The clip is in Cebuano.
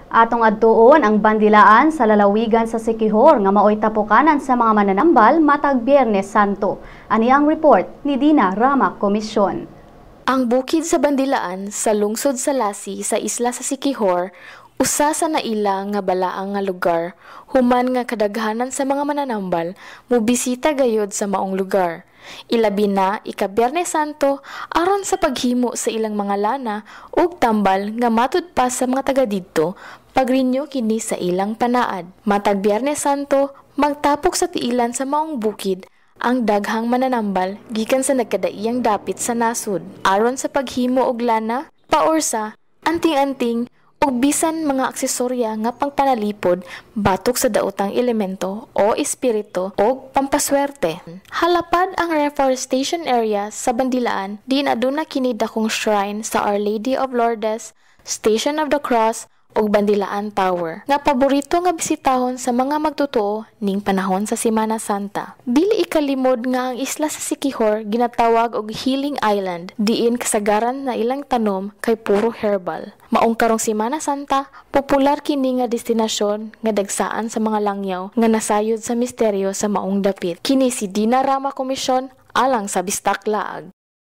Atong adtuon ang Bandilaan sa lalawigan sa Siquijor nga maoy tapukanan sa mga mananambal matag Biyernes Santo. Ani ang report ni Dina Rama Komisyon. Ang bukid sa Bandilaan sa lungsod sa Lasi sa isla sa Siquijor, usa sa naila nga balaang nga lugar, human nga kadaghanan sa mga mananambal mobisita gayod sa maong lugar. Ilabi na ika-Biyernes Santo aron sa paghimo sa ilang mga lana ug tambal nga matud pa sa mga taga didto pag-renew kini sa ilang panaad. Matag Biyernes Santo, magtapok sa tiilan sa maong bukid ang daghang mananambal gikan sa nagkadaiyang dapit sa nasud aron sa paghimo og lana, paorsa, anting-anting ug bisan mga aksesorya nga pangpanalipod batok sa daotang elemento o espiritu og pampaswerte. Halapad ang reforestation area sa Bandilaan, diin aduna kini dakong shrine sa Our Lady of Lourdes, Station of the Cross ug Bandilaan Tower nga paborito nga bisitahon sa mga magtotoo ning panahon sa Semana Santa. Dili ikalimod nga ang isla sa Siquijor ginatawag og Healing Island, diin kasagaran na ilang tanom kay puro herbal. Maong karong Semana Santa, popular kini nga destinasyon nga dagsaan sa mga langyaw nga nasayod sa misteryo sa maong dapit. Kini si Dina Rama Komisyon alang sa Bistak Laag.